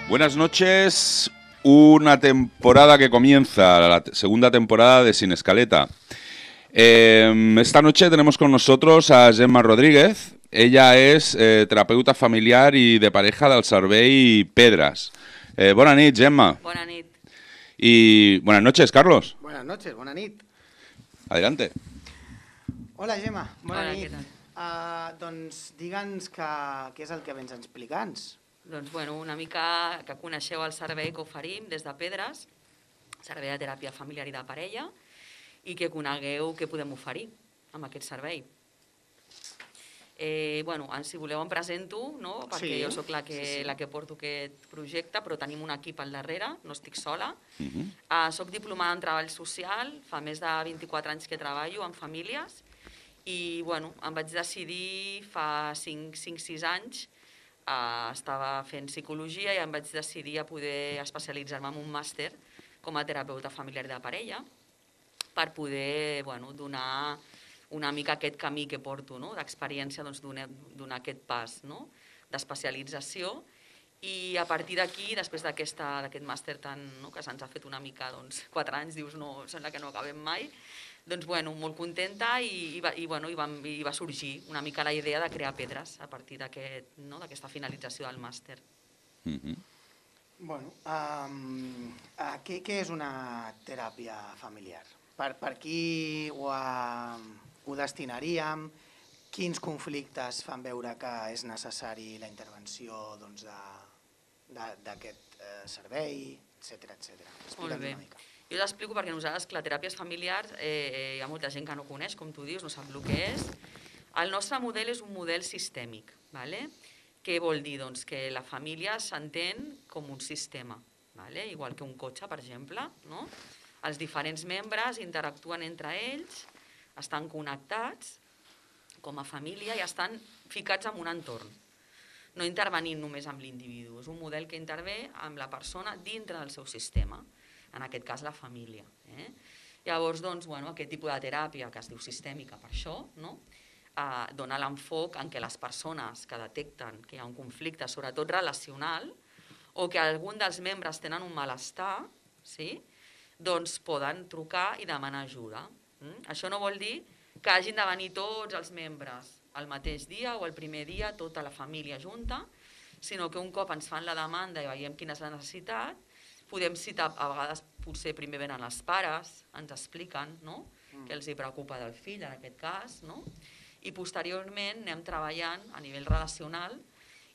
Buenas noches, una temporada que comienza, la segunda temporada de Sin Escaleta. Esta noche tenemos con nosotros a Gemma Rodríguez. Ella es terapeuta familiar y de pareja del Servei Pedras. Bona nit, Gemma. Bona nit. Y buenas noches, Carlos. Buenas noches, bona nit. Adelante. Hola, Gemma, bona Hola, nit. què tal? Doncs digue'ns què és el que vens a explicar-nos. Doncs, bueno, una mica que coneixeu el servei que oferim des de Pedres, servei de teràpia familiar i de parella, i que conegueu què podem oferir amb aquest servei. Bueno, si voleu em presento, no? Perquè Sí, jo sóc la que sí. porto aquest projecte, però tenim un equip al darrere, no estic sola. Soc diplomada en treball social, fa més de 24 anys que treballo amb famílies, i bueno, em vaig decidir fa 5-6 anys, estava fent psicologia i em vaig decidir a poder especialitzar-me en un màster com a terapeuta familiar de parella per poder donar una mica aquest camí que porto, no? D'experiència, doncs, donar aquest pas, no? D'especialització, i a partir d'aquí, després d'aquest màster que se'ns ha fet una mica 4 anys, dius, no, sembla que no acabem mai, doncs molt contenta i va sorgir una mica la idea de crear Pedres a partir d'aquesta finalització del màster. Bueno, què és una teràpia familiar? Per qui ho destinaríem? Quins conflictes fan veure que és necessari la intervenció d'aquest servei, etcètera, etcètera. Molt bé. Una mica. Jo l'explico perquè nosaltres, la teràpia familiar, hi ha molta gent que no coneix, com tu dius, no sap el que és. El nostre model és un model sistèmic. Què vol dir? Doncs que la família s'entén com un sistema, igual que un cotxe, per exemple. Els diferents membres interactuen entre ells, estan connectats com a família i estan ficats en un entorn. No intervenint només amb l'individu, és un model que intervé amb la persona dintre del seu sistema, en aquest cas la família. Llavors, aquest tipus de teràpia, que es diu sistèmica per això, dona l'enfoc en què les persones que detecten que hi ha un conflicte, sobretot relacional, o que algun dels membres tenen un malestar, doncs poden trucar i demanar ajuda. Això no vol dir que hagin de venir tots els membres el mateix dia o el primer dia, tota la família junta, sinó que un cop ens fan la demanda i veiem quina és la necessitat, podem citar, a vegades potser primer venen els pares, ens expliquen què els preocupa del fill en aquest cas, i posteriorment anem treballant a nivell relacional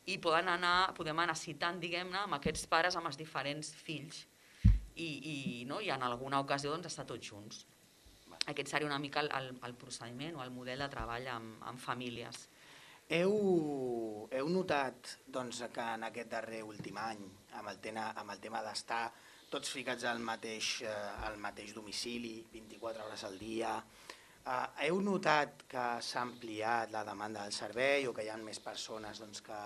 i podem anar citant, diguem-ne, amb aquests pares, amb els diferents fills, i en alguna ocasió estar tots junts. Aquest seria una mica el procediment o el model de treball amb famílies. Heu notat que en aquest darrer últim any, amb el tema d'estar tots ficats al mateix domicili, 24 hores al dia, heu notat que s'ha ampliat la demanda del servei o que hi ha més persones que...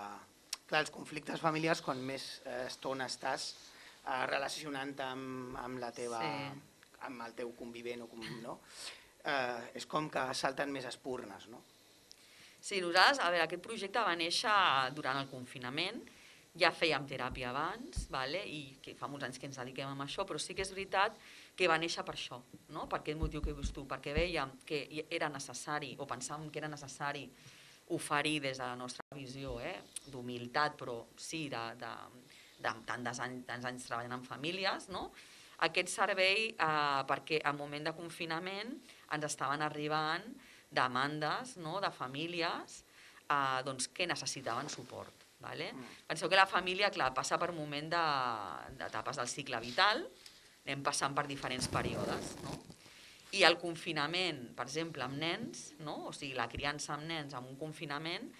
Clar, els conflictes familiars, quan més estona estàs relacionant-te amb la teva... amb el teu convivent, és com que salten més espurnes, no? Sí, nosaltres, aquest projecte va néixer durant el confinament, ja fèiem teràpia abans, i que fa molts anys que ens dediquem a això, però sí que és veritat que va néixer per això, per aquest motiu que dius tu, perquè vèiem que era necessari, o pensàvem que era necessari oferir des de la nostra visió d'humilitat, però sí, de tants anys treballant en famílies, aquest servei perquè al moment de confinament ens estaven arribant demandes de famílies que necessitaven suport. Penseu que la família, clar, passa per un moment d'etapes del cicle vital, anem passant per diferents períodes, i el confinament, per exemple, amb nens, o sigui, la criança amb nens en un confinament,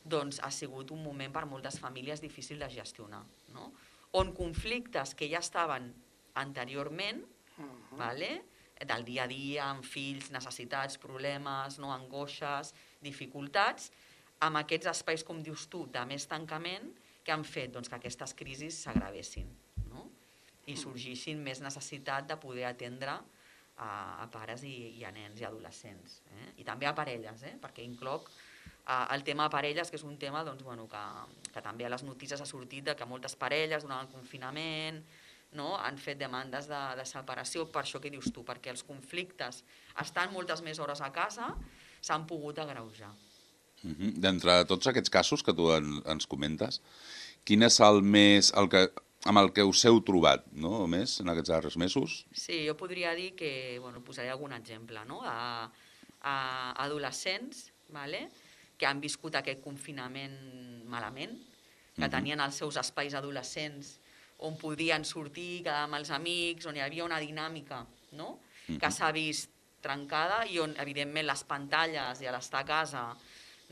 doncs ha sigut un moment per moltes famílies difícil de gestionar, on conflictes que ja estaven anteriorment, del dia a dia, amb fills, necessitats, problemes, angoixes, dificultats, amb aquests espais, com dius tu, de més tancament, que han fet que aquestes crisis s'agravessin i sorgissin més necessitat de poder atendre a pares i a nens i adolescents, i també a parelles, perquè incloc El tema parelles, que és un tema doncs, bueno, que també a les notícies ha sortit de que moltes parelles durant el confinament han fet demandes de separació, per això que dius tu, perquè els conflictes estan moltes més hores a casa, s'han pogut agreujar. D'entre tots aquests casos que tu ens comentes, quin és el més, amb el que us heu trobat, no?, més en aquests darrers mesos? Sí, jo podria dir que, posaré algun exemple, no?, a adolescents, que han viscut aquest confinament malament, que tenien els seus espais adolescents on podien sortir, quedar amb els amics, on hi havia una dinàmica, no?, que s'ha vist trencada i on, evidentment, les pantalles i l'estar a casa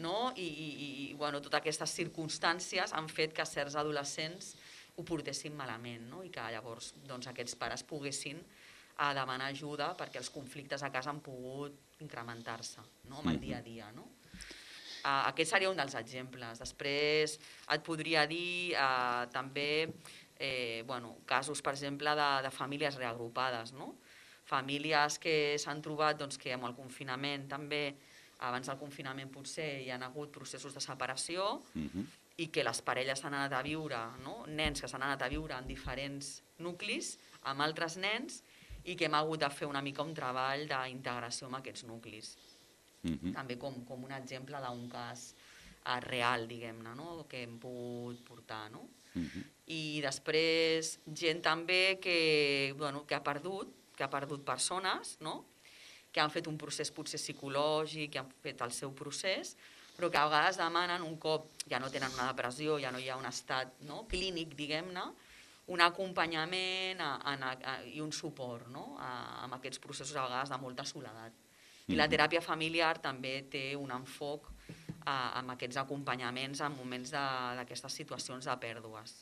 i totes aquestes circumstàncies han fet que certs adolescents ho portessin malament, i que llavors aquests pares poguessin demanar ajuda perquè els conflictes a casa han pogut incrementar-se amb el dia a dia. Aquest seria un dels exemples. Després et podria dir també casos, per exemple, de famílies reagrupades, famílies que s'han trobat que amb el confinament també, abans del confinament potser hi ha hagut processos de separació i que les parelles s'han anat a viure, nens que s'han anat a viure en diferents nuclis amb altres nens i que hem hagut de fer una mica un treball d'integració amb aquests nuclis. També com un exemple d'un cas real, diguem-ne, que hem pogut portar. I després gent també que ha perdut persones, que han fet un procés potser psicològic, que han fet el seu procés, però que a vegades demanen, un cop ja no tenen una depressió, ja no hi ha un estat clínic, diguem-ne, un acompanyament i un suport amb aquests processos a vegades de molta soledat. I la teràpia familiar també té un enfoc amb aquests acompanyaments en moments d'aquestes situacions de pèrdues.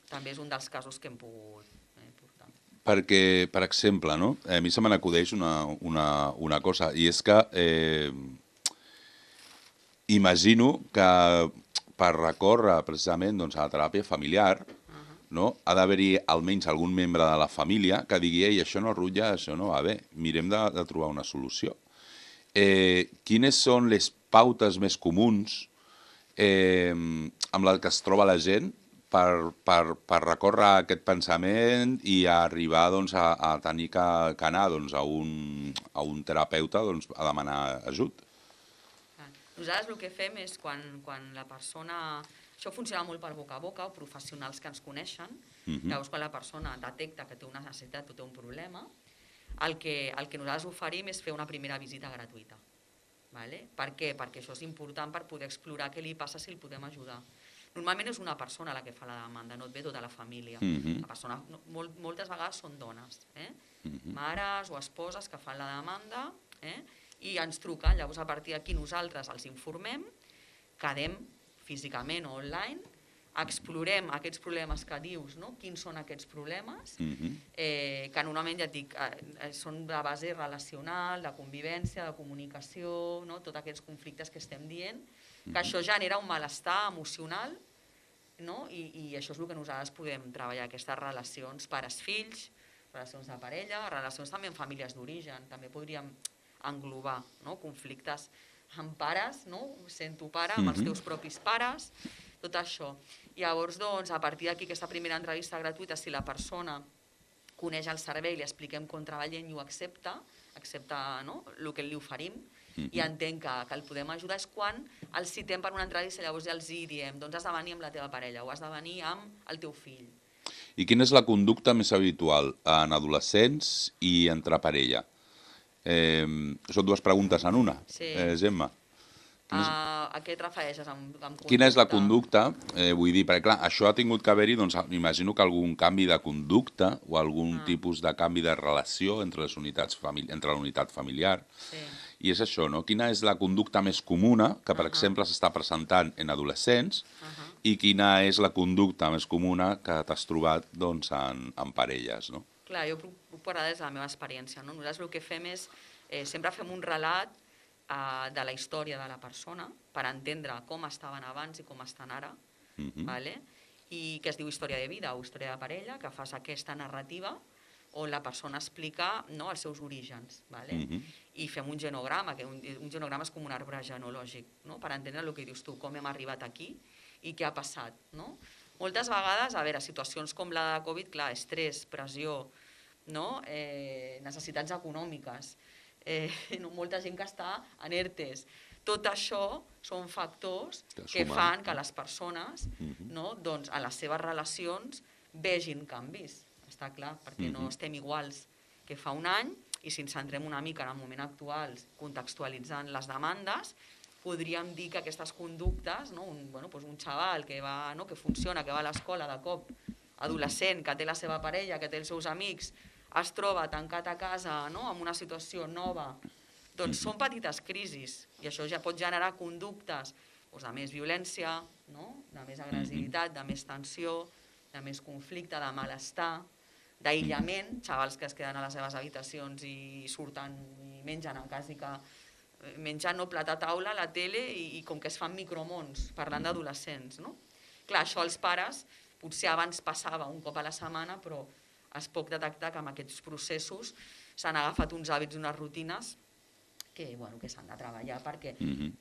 També és un dels casos que hem pogut portar. Perquè, per exemple, a mi se me n'acudeix una cosa, i és que imagino que per recórrer precisament a la teràpia familiar ha d'haver-hi almenys algun membre de la família que digui «Ei, això no rutlla, això no va bé, mirem de trobar una solució». Quines són les pautes més comuns amb les que es troba la gent per recórrer aquest pensament i arribar a tenir que anar a un terapeuta a demanar ajut? Nosaltres el que fem és quan la persona... Això funciona molt per boca a boca o professionals que ens coneixen. Llavors, quan la persona detecta que té una necessitat o té un problema, el que nosaltres oferim és fer una primera visita gratuïta. Per què? Perquè això és important per poder explorar què li passa, si el podem ajudar. Normalment és una persona la que fa la demanda, no et ve tota la família. La persona, moltes vegades són dones, mares o esposes que fan la demanda i ens truquen. Llavors, a partir d'aquí nosaltres els informem, quedem físicament o online, explorem aquests problemes que dius, quins són aquests problemes, que normalment, ja et dic, són de base relacional, de convivència, de comunicació, tots aquests conflictes que estem dient, que això genera un malestar emocional, i això és el que nosaltres podem treballar, aquestes relacions pares-fills, relacions de parella, relacions també amb famílies d'origen, també podríem englobar conflictes amb pares, sent tu pare, amb els teus propis pares, tot això. Llavors, a partir d'aquí, aquesta primera entrevista gratuïta, si la persona coneix el servei, li expliquem com treballem i ho accepta el que li oferim i entén que el podem ajudar, és quan el citem per una entrevista, llavors ja els diem, doncs has de venir amb la teva parella o has de venir amb el teu fill. I quina és la conducta més habitual en adolescents i entre parella? Són dues preguntes en una, Gemma. A què et refereixes amb conducta? Quina és la conducta? Vull dir, perquè clar, això ha tingut que haver-hi, doncs m'imagino que algun canvi de conducta o algun tipus de canvi de relació entre la unitat familiar. I és això, no? Quina és la conducta més comuna que, per exemple, s'està presentant en adolescents i quina és la conducta més comuna que t'has trobat en parelles, no? Clar, jo puc parlar des de la meva experiència. Nosaltres el que fem és, sempre fem un relat de la història de la persona per entendre com estaven abans i com estan ara, i que es diu història de vida o història de parella, que fas aquesta narrativa on la persona explica els seus orígens. I fem un genograma, que un genograma és com un arbre genealògic, per entendre el que dius tu, com hem arribat aquí i què ha passat. Moltes vegades, a veure, situacions com la de Covid, clar, estrès, pressió, necessitats econòmiques, molta gent que està en ERTEs. Tot això són factors que fan que les persones a les seves relacions vegin canvis, està clar, perquè no estem iguals que fa un any, i si ens centrem una mica en el moment actual, contextualitzant les demandes, podríem dir que aquestes conductes, un xaval que funciona, que va a l'escola de cop, adolescent, que té la seva parella, que té els seus amics, es troba tancat a casa amb una situació nova, doncs són petites crisis, i això ja pot generar conductes de més violència, de més agressivitat, de més tensió, de més conflicte, de malestar, d'aïllament, xavals que es queden a les seves habitacions i surten i mengen quasi que menjant plat a taula, la tele, i com que es fan micromons, parlant d'adolescents. Clar, això als pares potser abans passava un cop a la setmana, però es pot detectar que amb aquests processos s'han agafat uns hàbits i unes rutines que s'han de treballar perquè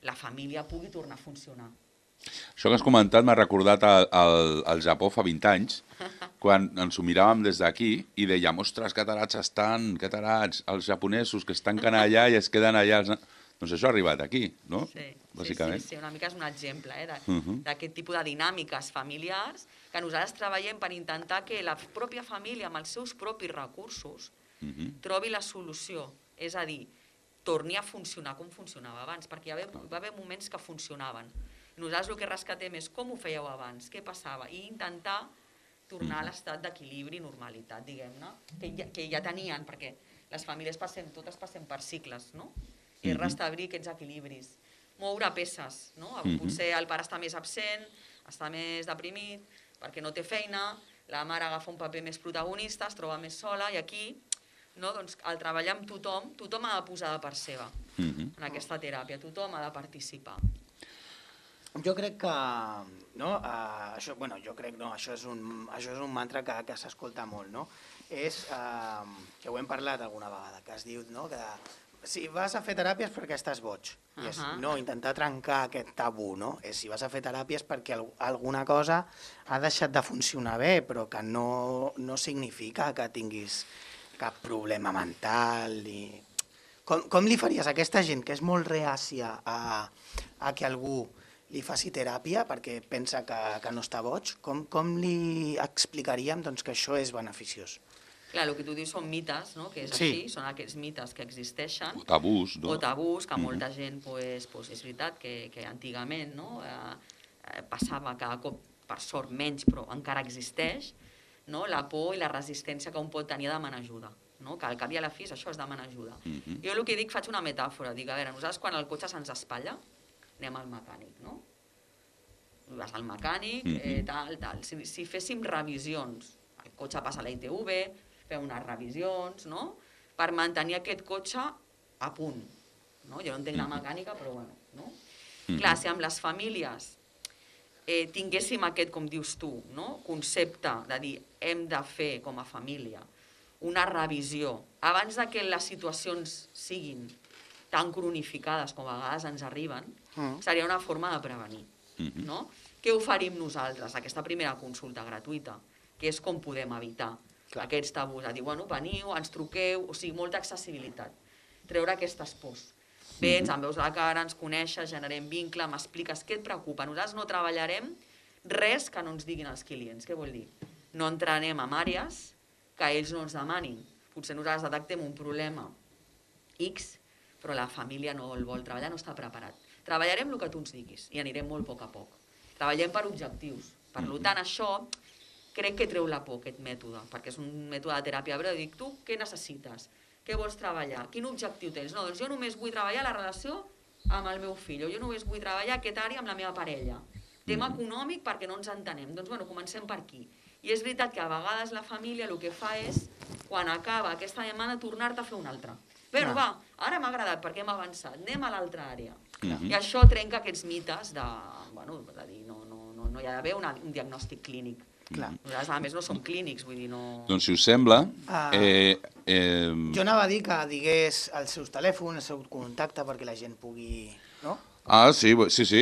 la família pugui tornar a funcionar. Això que has comentat m'ha recordat al Japó fa 20 anys, quan ens ho miràvem des d'aquí i dèiem, ostres, que tarats estan, que tarats, els japonesos que es tanquen allà i es queden allà. Doncs això ha arribat aquí, no? Bàsicament. Sí, una mica és un exemple d'aquest tipus de dinàmiques familiars que nosaltres treballem per intentar que la pròpia família, amb els seus propis recursos, trobi la solució. És a dir, torni a funcionar com funcionava abans, perquè va haver moments que funcionaven. Nosaltres el que rescatem és com ho fèieu abans, què passava, i intentar tornar a l'estat d'equilibri i normalitat, diguem-ne, que ja tenien, perquè les famílies totes passem per cicles, no? I restablir aquests equilibris. Moure peces, no? Potser el pare està més absent, està més deprimit, perquè no té feina, la mare agafa un paper més protagonista, es troba més sola, i aquí al treballar amb tothom, tothom ha de posar de part seva en aquesta teràpia, tothom ha de participar. Jo crec que, això és un mantra que s'escolta molt, no? És, que ho hem parlat alguna vegada, que es diu, que si vas a fer teràpies perquè estàs boig. Intentar trencar aquest tabú, no? Si vas a fer teràpies perquè alguna cosa ha deixat de funcionar bé, però que no significa que tinguis cap problema mental. Com li faries a aquesta gent que és molt reàcia a que algú li faci teràpia perquè pensa que no està boig? Com li explicaríem que això és beneficiós? Clar, el que tu dius són mites, que és així, són aquests mites que existeixen. O tabús, no? O tabús, que molta gent, és veritat que antigament passava cada cop, per sort menys, però encara existeix, la por i la resistència que un pot tenir a demanar ajuda. Que al cap i a la fi això és demanar ajuda. Jo el que dic, faig una metàfora, dic, a veure, nosaltres quan el cotxe se'ns espatlla, anem al mecànic, no? Vas al mecànic, tal. Si féssim revisions, el cotxe passa a la ITV, fem unes revisions, no? Per mantenir aquest cotxe a punt. Jo no entenc la mecànica, però bueno, no? Clar, si amb les famílies tinguéssim aquest, com dius tu, concepte de dir hem de fer com a família una revisió abans que les situacions siguin tan cronificades com a vegades ens arriben, seria una forma de prevenir. Què oferim nosaltres? Aquesta primera consulta gratuïta, que és com podem evitar aquests tabús, a dir, veniu, ens truqueu, o sigui, molta accessibilitat, treure aquestes pors. Vens, em veus la cara, ens coneixes, generem vincle, m'expliques què et preocupa. Nosaltres no treballarem res que no ens diguin els clients. Què vol dir? No entrarem en àrees que ells no ens demanin. Potser nosaltres detectem un problema X, però la família no el vol treballar, no està preparat. Treballarem el que tu ens diguis i anirem molt a poc a poc. Treballem per objectius. Per tant, això crec que treu la por, aquest mètode, perquè és un mètode de teràpia breu. Dic, tu què necessites? Què vols treballar? Quin objectiu tens? No, doncs jo només vull treballar la relació amb el meu fill, o jo només vull treballar aquest àrea amb la meva parella. Tema econòmic perquè no ens entenem. Doncs comencem per aquí. I és veritat que a vegades la família el que fa és, quan acaba aquesta demanda, tornar-te a fer una altra. Però va, ara m'ha agradat perquè hem avançat, anem a l'altra àrea. I això trenca aquests mites de dir, no hi ha d'haver un diagnòstic clínic. Clar. Nosaltres, a més, no som clínics, vull dir, no... Doncs, si us sembla... Jo anava a dir que digués els seus telèfons, el seu contacte, perquè la gent pugui... No? Sí,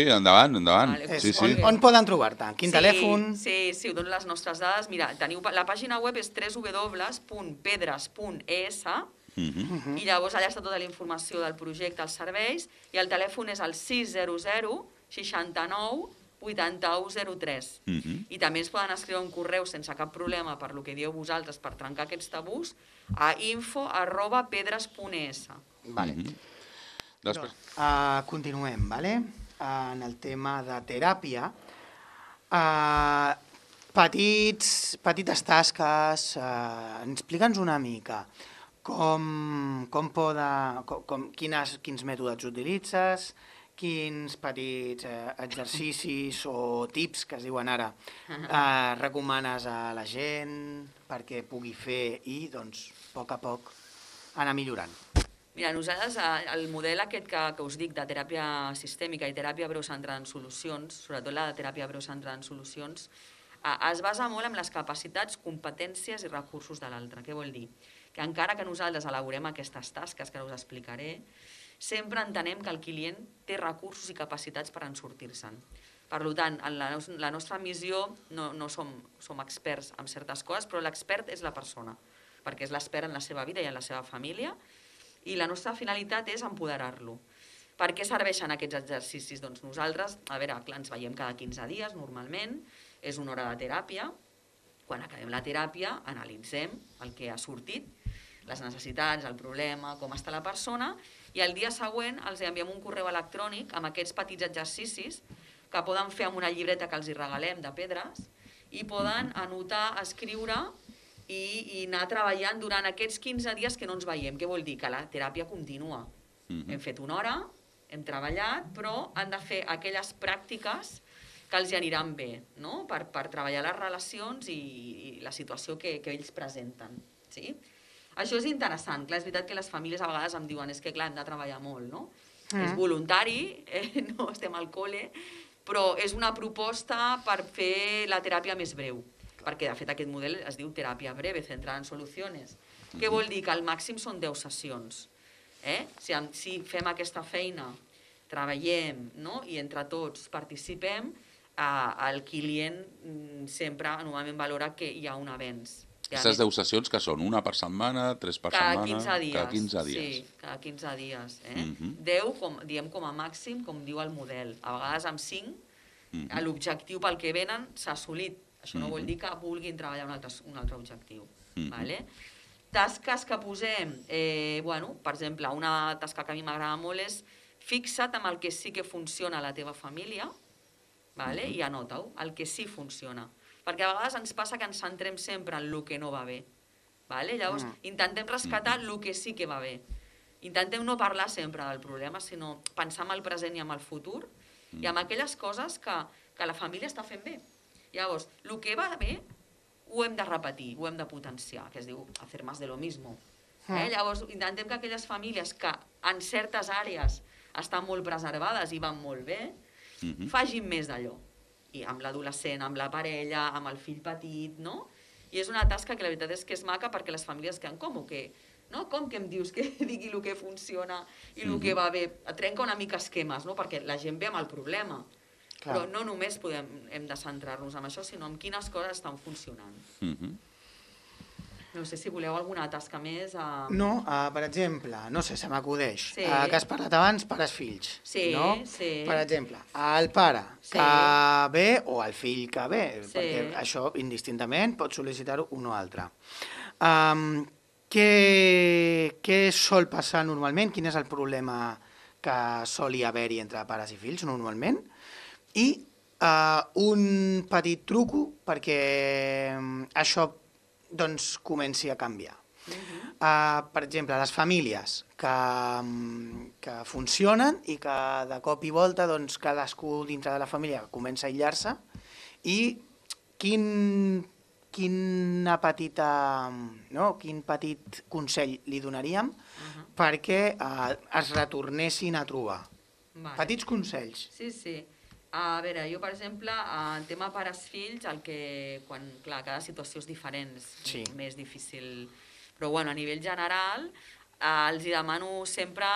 endavant. Vale, Sí. On poden trobar-te? Quin telèfon? Sí, ho dono les nostres dades. Mira, la pàgina web és www.pedres.es i llavors allà està tota la informació del projecte, els serveis, i el telèfon és el 600 69 8103. I també ens poden escriure un correu sense cap problema per lo que dieu vosaltres per trencar aquests tabús a info@pedres.es. Vale. Continuem, vale? En el tema de teràpia. Petites tasques, explica'ns una mica quins mètodes utilitzes, quins petits exercicis o tips, que es diuen ara, recomanes a la gent perquè pugui fer i, doncs, a poc anar millorant. Mira, nosaltres, el model aquest que us dic de teràpia sistèmica i teràpia breu centrada en solucions, sobretot la de teràpia breu centrada en solucions, es basa molt en les capacitats, competències i recursos de l'altre. Què vol dir? Que encara que nosaltres elaborem aquestes tasques, que ara us explicaré, sempre entenem que el client té recursos i capacitats per en sortir-se'n. Per tant, en la nostra missió no som experts en certes coses, però l'expert és la persona, perquè és l'expert en la seva vida i en la seva família, i la nostra finalitat és empoderar-lo. Per què serveixen aquests exercicis? Doncs nosaltres, ens veiem cada 15 dies, normalment, és una hora de teràpia. Quan acabem la teràpia, analitzem el que ha sortit, les necessitats, el problema, com està la persona, i el dia següent els enviem un correu electrònic amb aquests petits exercicis que poden fer amb una llibreta que els hi regalem de pedres i poden anotar, escriure i anar treballant durant aquests 15 dies que no ens veiem. Què vol dir? Que la teràpia continua. Hem fet una hora, hem treballat, però han de fer aquelles pràctiques que els hi aniran bé, no? Per treballar les relacions i la situació que ells presenten. Sí? Això és interessant. Clar, és veritat que les famílies a vegades em diuen que clar, hem de treballar molt, no? És voluntari, no estem al col·le, però és una proposta per fer la teràpia més breu, perquè de fet aquest model es diu teràpia breve, centrada en solucions. Què vol dir? Que al màxim són 10 sessions. Si fem aquesta feina, treballem, no? I entre tots participem, el client sempre normalment valora que hi ha un avenç. Aquestes 10 sessions que són? Una per setmana, 3 per setmana? Cada 15 dies. Sí, cada 15 dies. 10, diem com a màxim, com diu el model. A vegades amb 5, l'objectiu pel que venen s'ha assolit. Això no vol dir que vulguin treballar un altre objectiu. Tasques que posem, per exemple, una tasca que a mi m'agrada molt és fixa't amb el que sí que funciona a la teva família i anota-ho, el que sí funciona. Perquè a vegades ens passa que ens centrem sempre en el que no va bé. Llavors, intentem rescatar el que sí que va bé. Intentem no parlar sempre del problema, sinó pensar en el present i en el futur i en aquelles coses que la família està fent bé. Llavors, el que va bé ho hem de repetir, ho hem de potenciar, que es diu hacer más de lo mismo. Llavors, intentem que aquelles famílies que en certes àrees estan molt preservades i van molt bé, facin més d'allò. I amb l'adolescent, amb la parella, amb el fill petit, no? I és una tasca que la veritat és que és maca perquè les famílies queden com que em dius que digui el que funciona i el que va bé? Trenca una mica esquemes, no? Perquè la gent ve amb el problema. Però no només hem de centrar-nos en això, sinó en quines coses estan funcionant. No sé si voleu alguna tasca més. No, per exemple, no sé, se m'acudeix, que has parlat abans, pares-fills. Sí, sí. Per exemple, el pare que ve o el fill que ve, perquè això indistintament pot sol·licitar-ho un o altre. Què sol passar normalment? Quin és el problema que sol haver-hi entre pares i fills normalment? I un petit truco perquè això comenci a canviar. Per exemple, les famílies que funcionen i que de cop i volta cadascú dintre de la família comença a aïllar-se i quin petit consell li donaríem perquè es retornessin a trobar. Petits consells. Sí, sí. A veure, jo, per exemple, en tema pares-fills, clar, cada situació és diferent, és més difícil. Però, bueno, a nivell general, els demano sempre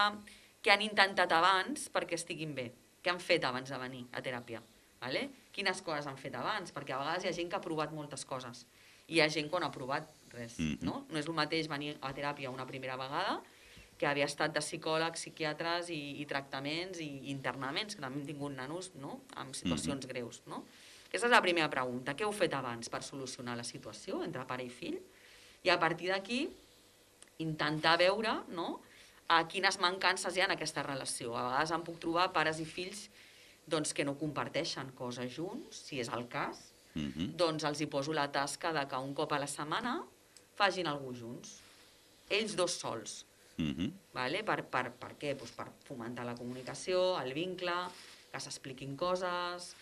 què han intentat abans perquè estiguin bé. Què han fet abans de venir a teràpia? Vale? Quines coses han fet abans? Perquè a vegades hi ha gent que ha provat moltes coses. I hi ha gent que no ha provat res, no? No és el mateix venir a teràpia una primera vegada que havia estat de psicòlegs, psiquiatres i tractaments i internaments, que també hem tingut nanos, no?, amb situacions greus, no? Aquesta és la primera pregunta. Què heu fet abans per solucionar la situació entre pare i fill? I a partir d'aquí, intentar veure, no?, quines mancances hi ha en aquesta relació. A vegades em puc trobar pares i fills doncs, que no comparteixen coses junts, si és el cas, doncs els hi poso la tasca de que un cop a la setmana facin alguna junts, ells dos sols. Vale? Per què? Pues per fomentar la comunicació, el vincle, que s'expliquin coses,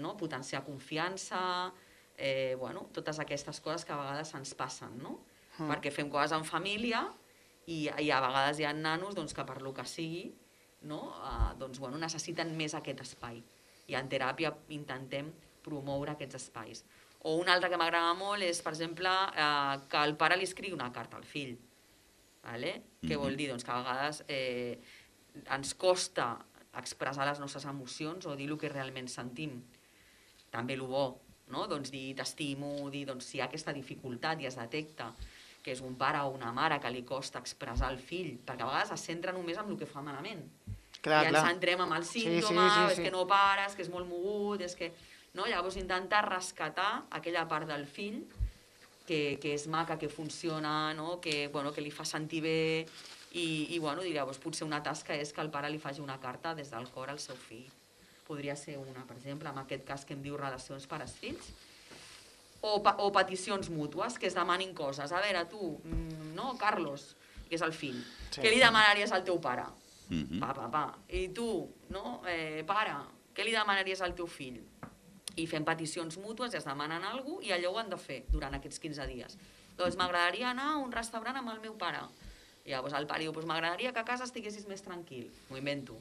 no? Potenciar confiança, bueno, totes aquestes coses que a vegades ens passen, no? Perquè fem coses en família i a vegades hi ha nanos doncs, que per lo que sigui, no? Doncs, bueno, necessiten més aquest espai. I en teràpia intentem promoure aquests espais. O un altre que m'agrada molt és, per exemple, que el pare li escrigui una carta al fill. Vale? Què vol dir? Doncs que a vegades ens costa expressar les nostres emocions o dir el que realment sentim. També el bo, no? Doncs dir t'estimo, dir doncs, si hi ha aquesta dificultat i es detecta que és un pare o una mare que li costa expressar al fill, perquè a vegades es centra només en el que fa malament. I ens centrem en el símptoma, és que no pares, que és molt mogut, és que... No? Llavors intentar rescatar aquella part del fill que és maca, que funciona, no? Que li fa sentir bé i llavors potser una tasca és que el pare li faci una carta des del cor al seu fill. Podria ser una, per exemple, en aquest cas que em diu relacions pares-fills. O peticions mútues, que es demanin coses. A veure, tu, no, Carlos, que és el fill, què li demanaries al teu pare? Pa. I tu, no, pare, què li demanaries al teu fill? I fem peticions mútues i es demanen alguna cosa i allò ho han de fer durant aquests 15 dies. Doncs m'agradaria anar a un restaurant amb el meu pare. I llavors el pare diu, doncs m'agradaria que a casa estiguessis més tranquil. M'ho invento.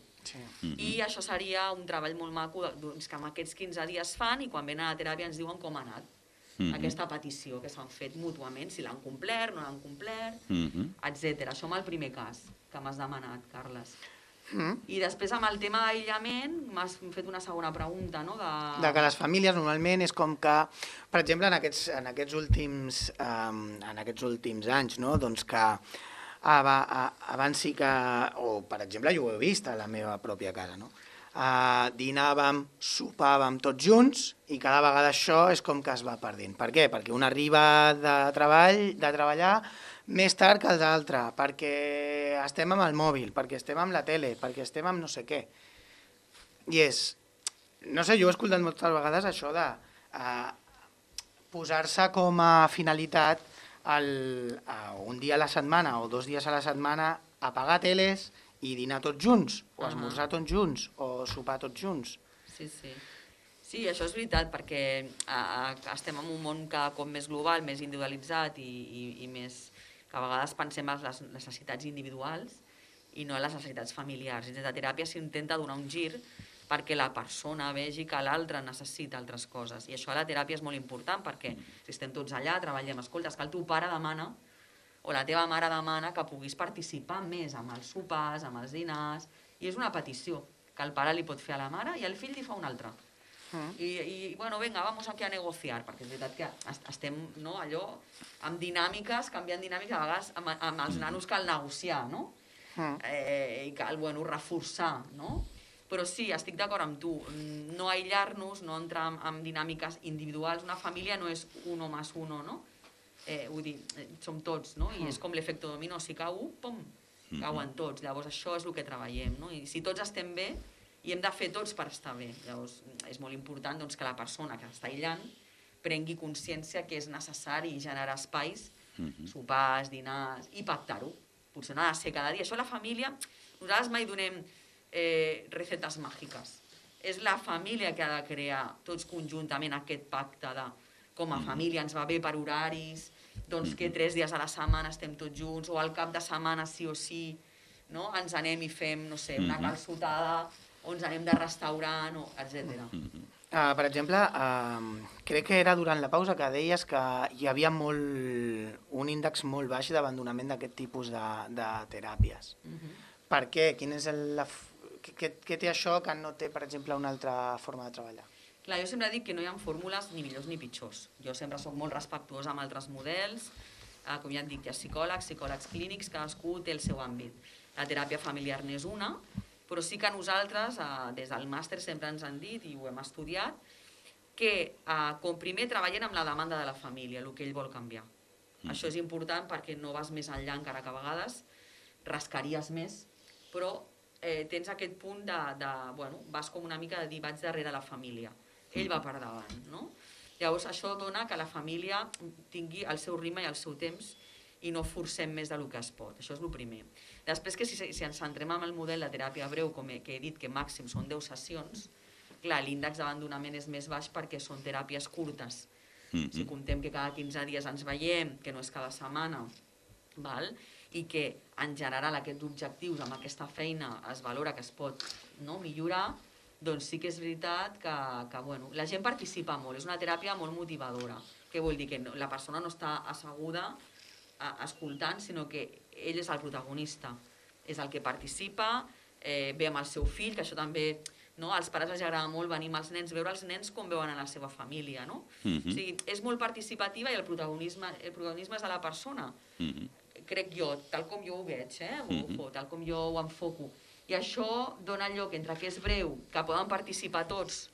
I això seria un treball molt maco doncs, que en aquests 15 dies fan i quan venen a la teràpia ens diuen com ha anat. Aquesta petició que s'han fet mútuament, si l'han complert, no l'han complert, etc. Això amb el primer cas que m'has demanat, Carles. I després amb el tema d'aïllament m'has fet una segona pregunta, no? De que les famílies normalment és com que, per exemple, en aquests últims anys, no? Doncs que abans sí que, o per exemple jo ho he vist a la meva pròpia casa, no? Dinàvem, sopàvem tots junts i cada vegada això és com que es va perdent. Per què? Perquè un arriba de treballar més tard que els altres, perquè estem amb el mòbil, perquè estem amb la tele, perquè estem amb no sé què. I és, no sé, jo he escoltat moltes vegades això de posar-se com a finalitat un dia a la setmana o 2 dies a la setmana apagar teles i dinar tots junts, o esmorzar tots junts, o sopar tots junts. Sí, això és veritat, perquè estem en un món cada cop més global, més individualitzat i més... que a vegades pensem en les necessitats individuals i no en les necessitats familiars. I des de teràpia s'intenta donar un gir perquè la persona vegi que l'altre necessita altres coses. I això a la teràpia és molt important perquè si estem tots allà, treballem, escolta, és que el teu pare demana o la teva mare demana que puguis participar més amb els sopars, amb els dinars, i és una petició que el pare li pot fer a la mare i el fill li fa un altre. I bueno, venga, vamos aquí a negociar, perquè és veritat que estem allò amb dinàmiques, canviant dinàmiques, a vegades amb els nanos cal negociar, no? I cal, bueno, reforçar, no? Però sí, estic d'acord amb tu, no aïllar-nos, no entrar en dinàmiques individuals, una família no és uno más uno, no? Vull dir, som tots, no? I és com l'efecte dominó, si cau un, pum, cauen tots, llavors això és el que treballem, no? I si tots estem bé, i hem de fer tots per estar bé. Llavors, és molt important doncs, que la persona que està aïllant prengui consciència que és necessari generar espais, sopars, dinars, i pactar-ho. Potser no ha de ser cada dia. Això la família, nosaltres mai donem recetes màgiques. És la família que ha de crear tots conjuntament aquest pacte de com a família ens va bé per horaris, doncs que 3 dies a la setmana estem tots junts, o al cap de setmana sí o sí, no? Ens anem i fem, no sé, una calçotada o ens anem de restaurant, etc. Per exemple, crec que era durant la pausa que deies que hi havia un índex molt baix d'abandonament d'aquest tipus de teràpies. Per què? Què té això que no té, per exemple, una altra forma de treballar? Clar, jo sempre dic que no hi ha fórmules ni millors ni pitjors. Jo sempre soc molt respectuosa amb altres models, com ja et dic, hi ha psicòlegs clínics, cadascú té el seu àmbit. La teràpia familiar n'és una, però sí que nosaltres, des del màster, sempre ens han dit, i ho hem estudiat, que com primer treballem amb la demanda de la família, el que ell vol canviar. Això és important perquè no vas més enllà, encara que a vegades rascaries més, però tens aquest punt vas com una mica de dir, vaig darrere la família. Ell va per davant, no? Llavors, això dona que la família tingui el seu ritme i el seu temps i no forcem més del que es pot. Això és el primer. Després, que si ens centrem en el model de teràpia breu, que he dit que màxim són 10 sessions, clar, l'índex d'abandonament és més baix perquè són teràpies curtes. Si comptem que cada 15 dies ens veiem, que no és cada setmana, i que en general aquests objectius amb aquesta feina es valora que es pot millorar, doncs sí que és veritat que la gent participa molt, és una teràpia molt motivadora. Què vol dir? Que la persona no està asseguda escoltant, sinó que ell és el protagonista, és el que participa, ve amb el seu fill, que això també als pares els agrada molt venir amb els nens, veure els nens com veuen a la seva família. O sigui, és molt participativa i el protagonisme és de la persona, crec jo, tal com jo ho veig, tal com jo ho enfoco. I això dona lloc entre que és breu, que poden participar tots,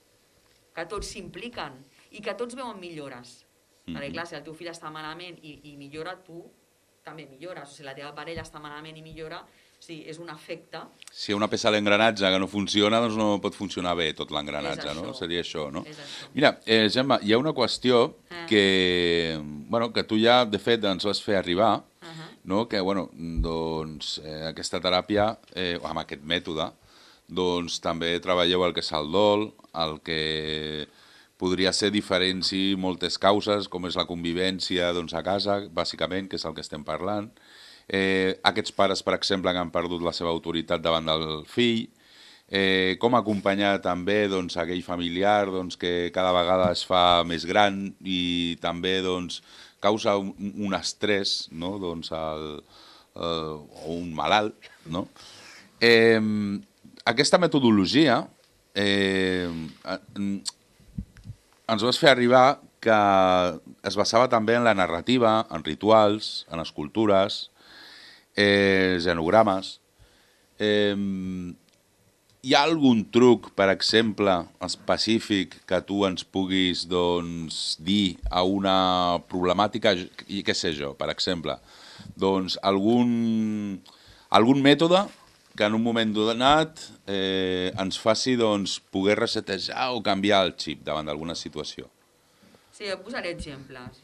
que tots s'impliquen i que tots veuen millores. Perquè clar, si el teu fill està malament i millora, tu també millores. O si la teva parella està malament i millora, és un efecte. Si hi ha una peça a l'engranatge que no funciona, doncs no pot funcionar bé tot l'engranatge, no? Seria això, no? Mira, Gemma, hi ha una qüestió que tu ja, de fet, ens vas fer arribar, que aquesta teràpia, amb aquest mètode, també treballeu el que és el dol, el que podria ser diferents i moltes causes, com és la convivència a casa, bàsicament, que és el que estem parlant. Aquests pares, per exemple, que han perdut la seva autoritat davant del fill, com acompanyar també aquell familiar que cada vegada es fa més gran i també causa un estrès o un malalt. Aquesta metodologia ens vas fer arribar que es basava també en la narrativa, en rituals, en escultures, genogrames. Hi ha algun truc, per exemple, específic que tu ens puguis dir a una problemàtica, i què sé jo, per exemple, algun mètode que en un moment donat ens faci poder resetejar o canviar el xip davant d'alguna situació? Sí, jo posaré exemples.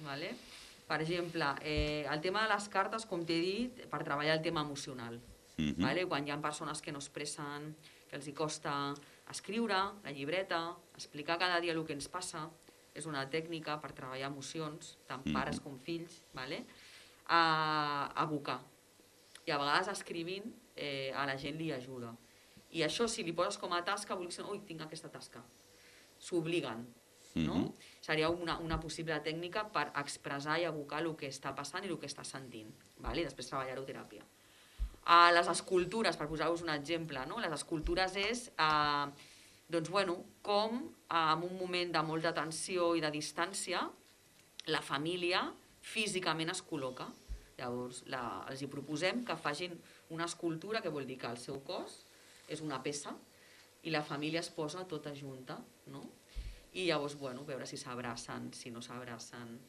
Per exemple, el tema de les cartes, com t'he dit, per treballar el tema emocional. Quan hi ha persones que no expressen, que els costa escriure, la llibreta, explicar cada dia el que ens passa, és una tècnica per treballar emocions, tant pares com fills, abocar. I a vegades escrivint a la gent li ajuda. I això, si li poses com a tasca, vol dir, ui, tinc aquesta tasca. S'obliguen. Seria una possible tècnica per expressar i abocar el que està passant i el que està sentint. I després treballar-ho a teràpia. Les escultures, per posar-vos un exemple, les escultures és com en un moment de molta tensió i de distància la família físicament es col·loca. Llavors els hi proposem que facin una escultura, que vol dir que el seu cos és una peça i la família es posa tota junta, i llavors veure si s'abracen, si no s'abracen,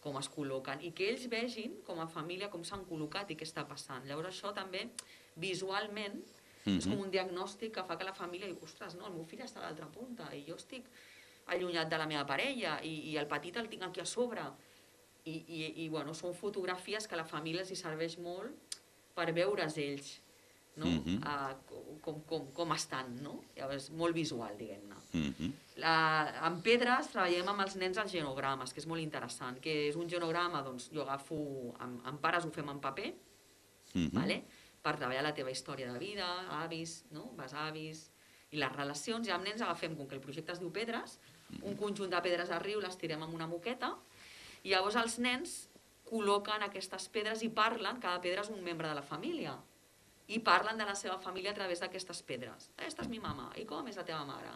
com es col·loquen, i que ells vegin com a família com s'han col·locat i què està passant. Llavors això també visualment és com un diagnòstic que fa que la família diu, ostres, no, el meu fill està a l'altra punta i jo estic allunyat de la meva parella i el petit el tinc aquí a sobre. I són fotografies que a la família els hi serveix molt per veure's ells com estan. Llavors és molt visual, diguem-ne. En pedres treballem amb els nens els genogrames, que és molt interessant, que és un genograma, jo agafo, amb pares ho fem en paper, per treballar la teva història de vida, avis, besavis, I les relacions, ja amb nens agafem, com que el projecte es diu Pedres, un conjunt de pedres al riu, les tirem amb una moqueta, i llavors els nens col·loquen aquestes pedres i parlen, cada pedra és un membre de la família, i parlen de la seva família a través d'aquestes pedres. Esta és mi mama, i com és la teva mare?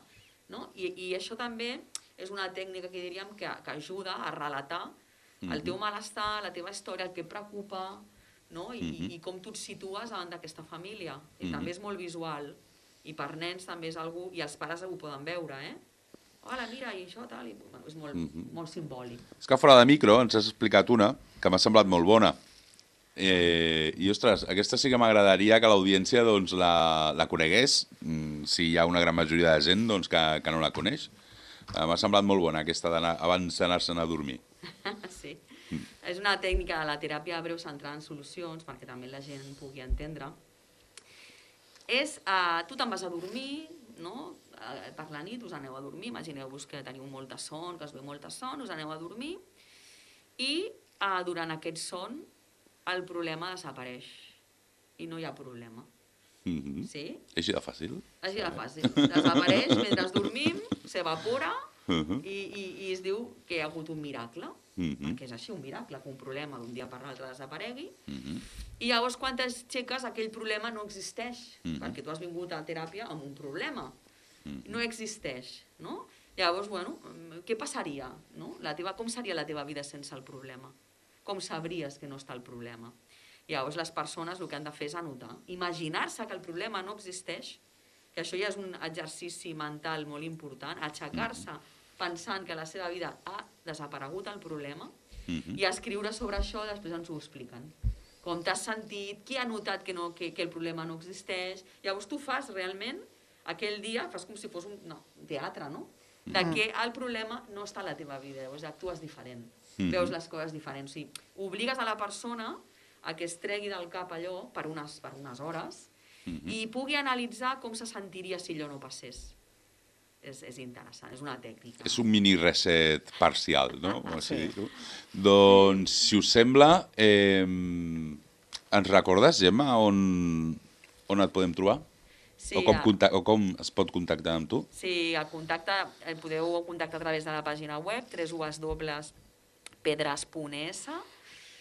No? I això també és una tècnica que diríem que ajuda a relatar el teu malestar, la teva història, el que et preocupa, no? I com tu et situes davant d'aquesta família. I també és molt visual, i per nens també és algú, i els pares ho poden veure, hola, mira, i això, tal, és molt simbòlic. És que fora de micro ens has explicat una que m'ha semblat molt bona. I, ostres, aquesta sí que m'agradaria que l'audiència doncs, la conegués, si hi ha una gran majoria de gent doncs, que no la coneix. M'ha semblat molt bona aquesta abans d'anar-se'n a dormir. Sí, és una tècnica de la teràpia breu centrada en solucions, perquè també la gent pugui entendre. Tu te'n vas a dormir, no? Per la nit us aneu a dormir, imagineu-vos que teniu molta son, que us ve molta son, us aneu a dormir i durant aquest son el problema desapareix i no hi ha problema. Sí? Així de fàcil? Així de fàcil. Desapareix mentre dormim, s'evapora i es diu que hi ha hagut un miracle, perquè és així un miracle, que un problema d'un dia per l'altre desaparegui. I llavors quan t'aixeques aquell problema no existeix, perquè tu has vingut a teràpia amb un problema. No existeix, no? Llavors, bueno, què passaria? No? Com seria la teva vida sense el problema? Com sabries que no està el problema? Llavors les persones el que han de fer és anotar, imaginar-se que el problema no existeix, que això ja és un exercici mental molt important, aixecar-se pensant que a la seva vida ha desaparegut el problema i escriure sobre això, després ens ho expliquen. Com t'has sentit, qui ha notat que el problema no existeix, llavors tu fas realment aquell dia, fas com si fos un teatre, no? De que el problema no està a la teva vida, llavors actues diferent, veus les coses diferents. O sigui, obligues a la persona a que es tregui del cap allò per unes hores i pugui analitzar com se sentiria si allò no passés. És interessant, és una tècnica. És un mini reset parcial, no? Sí. Doncs, si us sembla, ens recordes, Gemma, on et podem trobar? Sí, o com es pot contactar amb tu? Sí, el podeu contactar a través de la pàgina web www.pedres.es,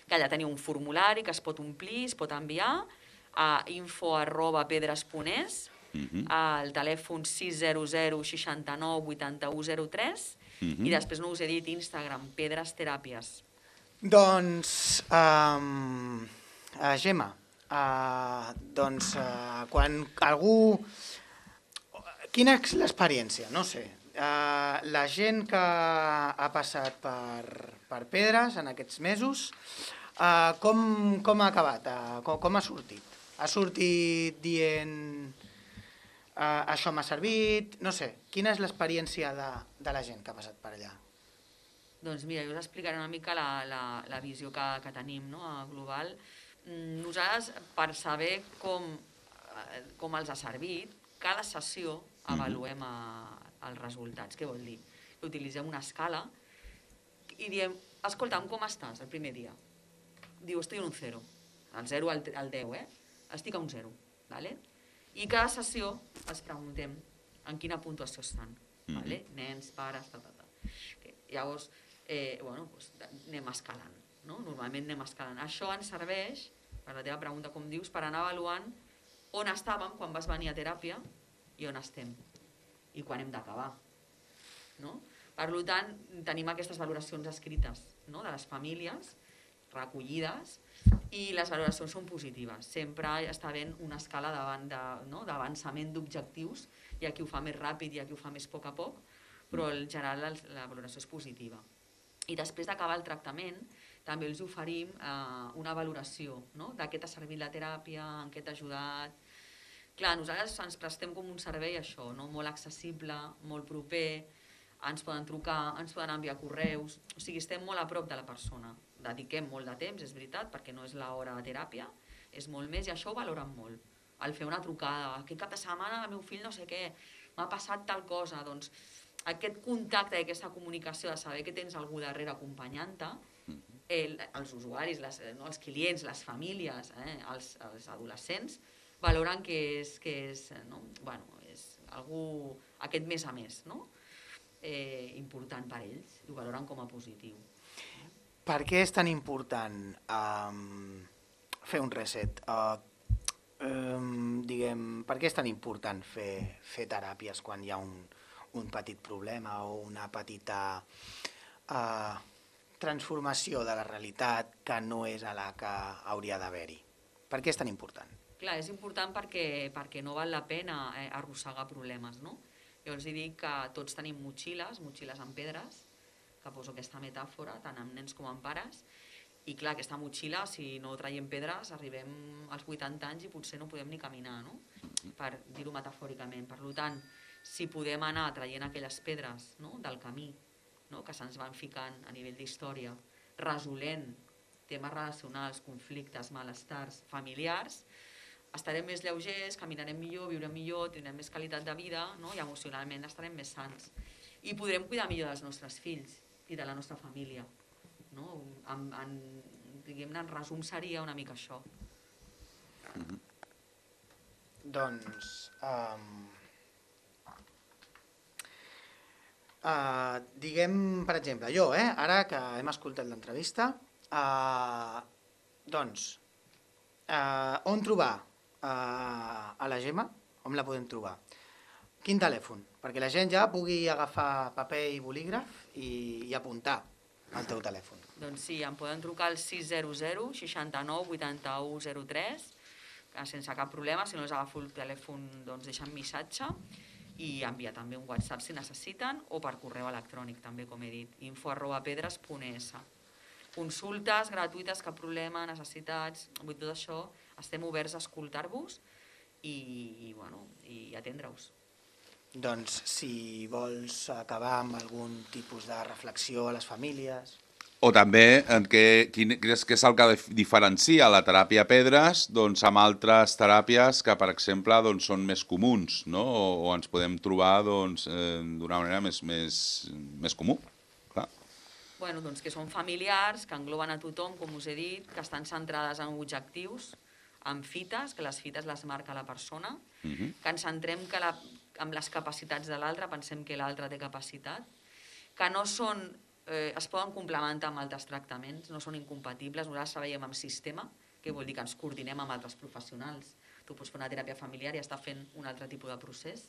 que allà teniu un formulari que es pot omplir, es pot enviar a info@pedres.es, al telèfon 600 69 81 03 i després no us he dit Instagram, Pedres Teràpies. Doncs, Gemma, quan algú... Quina és l'experiència? No sé. La gent que ha passat per Pedres en aquests mesos, com ha acabat? Com ha sortit? Ha sortit dient això m'ha servit? No sé. Quina és l'experiència de la gent que ha passat per allà? Doncs mira, jo us explicaré una mica la visió que tenim, no, global. Nosaltres, per saber com els ha servit, cada sessió avaluem els resultats. Què vol dir? Utilitzem una escala i diem, escolta'm, com estàs el primer dia? Diu, estic en un 0, el 0 al 10, estic a un 0. I cada sessió els preguntem en quina puntuació estan. Nens, pares, Llavors, anem escalant. Normalment anem escalant. Això ens serveix, per la teva pregunta, com dius, per anar avaluant on estàvem quan vas venir a teràpia i on estem i quan hem d'acabar. Per tant, tenim aquestes valoracions escrites de les famílies, recollides, i les valoracions són positives. Sempre està havent una escala d'avançament d'objectius. Hi ha qui ho fa més ràpid, hi ha qui ho fa més a poc, però en general la valoració és positiva. I després d'acabar el tractament, també els oferim una valoració de què t'ha servit la teràpia, en què t'ha ajudat. Clar, nosaltres ens prestem com un servei això, molt accessible, molt proper, ens poden trucar, ens poden enviar correus, o sigui, estem molt a prop de la persona. Dediquem molt de temps, és veritat, perquè no és l'hora de teràpia, és molt més, i això ho valoren molt. Al fer una trucada, aquest cap de setmana el meu fill no sé què, m'ha passat tal cosa, doncs aquest contacte i aquesta comunicació de saber que tens algú darrere acompanyant-te, els usuaris, els clients, les famílies, els adolescents, valoren que és algú aquest més a més, no? Important per ells, i ho valoren com a positiu. Per què és tan important fer un reset? Per què és tan important fer teràpies quan hi ha un petit problema o una petita transformació de la realitat que no és a la que hauria d'haver-hi? Per què és tan important? Clar, és important perquè no val la pena arrossegar problemes, no? Jo els dic que tots tenim motxilles amb pedres, que poso aquesta metàfora, tant amb nens com amb pares, i clar, aquesta motxilla, si no traiem pedres, arribem als 80 anys i potser no podem ni caminar, no? Per dir-ho metafòricament. Per tant, si podem anar traient aquelles pedres, no?, del camí, no?, que se'ns van ficant a nivell d'història, resolent temes relacionals, conflictes, malestars familiars, estarem més lleugers, caminarem millor, viurem millor, tindrem més qualitat de vida, no?, i emocionalment estarem més sants. I podrem cuidar millor dels nostres fills i de la nostra família. No? Diguem-ne, en resum seria una mica això. Doncs, diguem, per exemple, jo, ara que hem escoltat l'entrevista, doncs, on trobar a la Gemma? On la podem trobar? Quin telèfon? Perquè la gent ja pugui agafar paper i bolígraf i apuntar el teu telèfon. Doncs sí, em poden trucar al 600 69 81 03, sense cap problema. Si no els agafo el telèfon, doncs deixen missatge i enviar també un WhatsApp si necessiten, o per correu electrònic també, com he dit, info@pedres.es. Consultes gratuïtes, cap problema, necessitats, tot això, estem oberts a escoltar-vos i atendre-us. Doncs si vols acabar amb algun tipus de reflexió a les famílies... O també, què és el que diferencia la teràpia Pedres amb altres teràpies que, per exemple, són més comuns, o ens podem trobar d'una manera més comú? Doncs que són familiars, que engloben a tothom, com us he dit, que estan centrades en objectius, en fites, que les fites les marca la persona, que ens centrem en les capacitats de l'altre, pensem que l'altre té capacitat, que no són... es poden complementar amb altres tractaments, no són incompatibles. Nosaltres treballem amb sistema, que vol dir que ens coordinem amb altres professionals. Tu pots fer una teràpia familiar i estar fent un altre tipus de procés.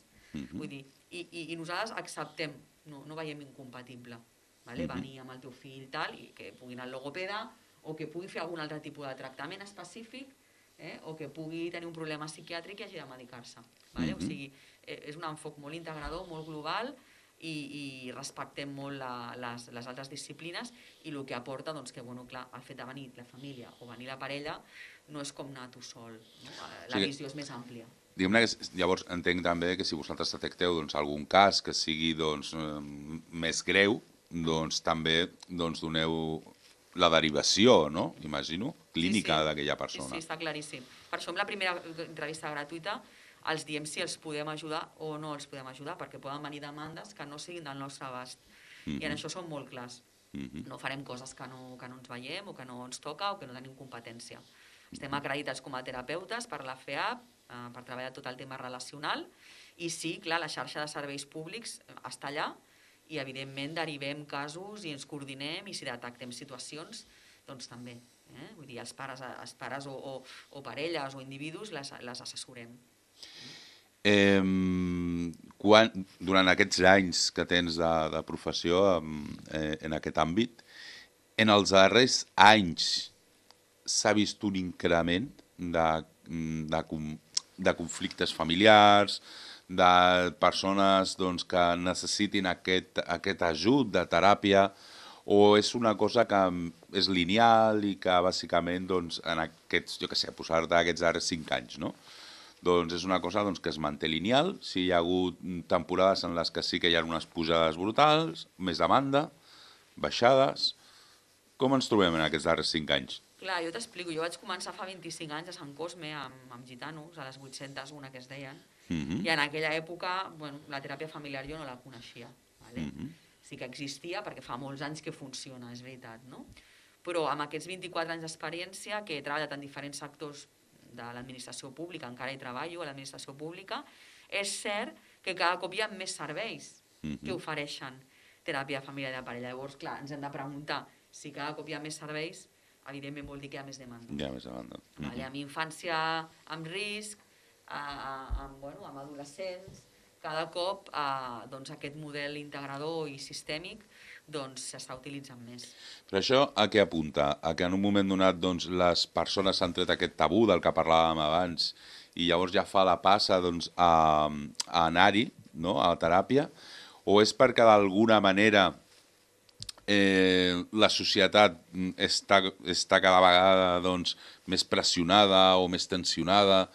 Vull dir, i nosaltres acceptem, no veiem incompatible, venir amb el teu fill i tal, i que pugui anar al logopeda, o que pugui fer algun altre tipus de tractament específic, o que pugui tenir un problema psiquiàtric i hagi de medicar-se. O sigui, és un enfoc molt integrador, molt global, i respectem molt les altres disciplines, i el que aporta que, clar, el fet de venir la família o venir la parella no és com anar tu sol, la visió és més àmplia. Diguem-ne que llavors entenc també que si vosaltres detecteu algun cas que sigui més greu, també doneu la derivació, no? Imagino, clínica d'aquella persona. Sí, està claríssim. Per això en la primera entrevista gratuïta els diem si els podem ajudar o no els podem ajudar, perquè poden venir demandes que no siguin del nostre abast. I en això som molt clars. No farem coses que no ens veiem o que no ens toca o que no tenim competència. Estem acreditats com a terapeutes per la FEAP, per treballar tot el tema relacional, i sí, clar, la xarxa de serveis públics està allà i, evidentment, derivem casos i ens coordinem, i si detectem situacions, doncs també. Vull dir, els pares o parelles o individus les assessorem. Durant aquests anys que tens de professió en aquest àmbit, en els darrers anys s'ha vist un increment de conflictes familiars, de persones que necessitin aquest ajut de teràpia, o és una cosa que és lineal i que bàsicament en aquests, posar-te aquests darrers 5 anys, no? Doncs és una cosa que es manté lineal. Si hi ha hagut temporades en les que sí que hi ha unes pujades brutals, més demanda, baixades... Com ens trobem en aquests darrers 5 anys? Clar, jo t'explico. Jo vaig començar fa 25 anys a Sant Cosme amb gitanos, a les 801 que es deien, i en aquella època la teràpia familiar jo no la coneixia. Sí que existia perquè fa molts anys que funciona, és veritat, no? Però amb aquests 24 anys d'experiència, que he treballat en diferents sectors de l'administració pública, encara hi treballo a l'administració pública, és cert que cada cop hi ha més serveis que ofereixen teràpia de família i de parella. Llavors, clar, ens hem de preguntar si cada cop hi ha més serveis, evidentment vol dir que hi ha més demanda. Hi ha més demanda. Vale, amb infància amb risc, amb adolescents, cada cop doncs, aquest model integrador i sistèmic s'està utilitzant més. Però això a què apunta? A que en un moment donat doncs, les persones s'han tret aquest tabú del que parlàvem abans i llavors ja fa la passa doncs, a anar-hi, no? A la teràpia, o és perquè d'alguna manera la societat està cada vegada doncs, més pressionada o més tensionada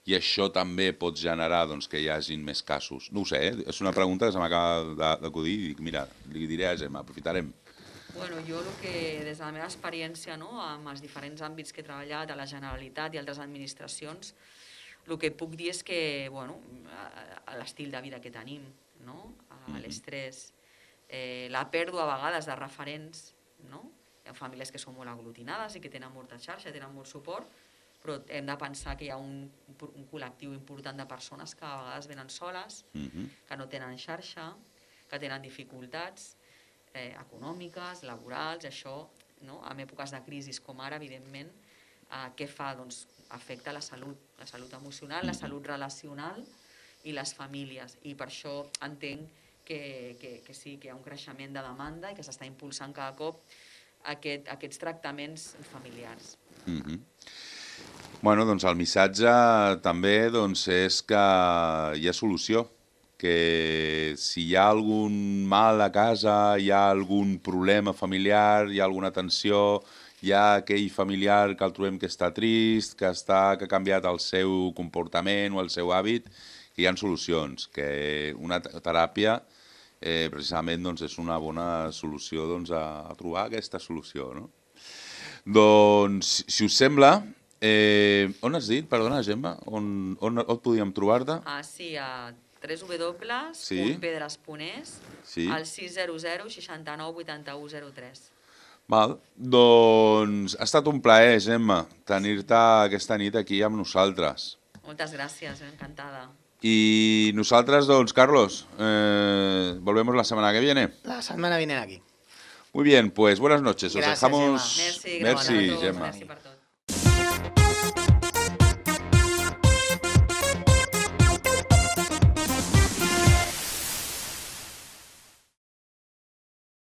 i això també pot generar doncs, que hi hagin més casos? No ho sé, és una pregunta que se m'acaba d'acudir i dic, mira, li diré a Gemma, aprofitarem. Bueno, jo el que, des de la meva experiència, no, amb els diferents àmbits que he treballat, a la Generalitat i altres administracions, el que puc dir és que l'estil de vida que tenim, no? L'estrès, la pèrdua a vegades de referents, no? Hi ha famílies que són molt aglutinades i que tenen molta xarxa, tenen molt suport, però hem de pensar que hi ha un col·lectiu important de persones que a vegades venen soles, que no tenen xarxa, que tenen dificultats econòmiques, laborals, això, no? En èpoques de crisi com ara, evidentment, què fa? Doncs afecta la salut emocional, la salut relacional i les famílies. I per això entenc que sí, que hi ha un creixement de demanda i que s'està impulsant cada cop aquests tractaments familiars. Bueno, doncs el missatge també doncs, és que hi ha solució, que si hi ha algun mal a casa, hi ha algun problema familiar, hi ha alguna tensió, hi ha aquell familiar que el trobem que està trist, que ha canviat el seu comportament o el seu hàbit, que hi ha solucions, que una teràpia precisament doncs, és una bona solució doncs, a trobar aquesta solució. No? Doncs, si us sembla, on has dit, perdona, Gemma, on et podíem trobar-te? Sí, a www.pedres.es, al 600 69 81 03. Val, doncs ha estat un plaer, Gemma, tenir-te aquesta nit aquí amb nosaltres. Moltes gràcies, encantada. Y nosotras, doncs, Carlos, volvemos la semana que viene. La semana viene aquí. Muy bien, pues buenas noches. Gracias, Os dejamos... Gemma. Merci, Gemma. Merci per tot.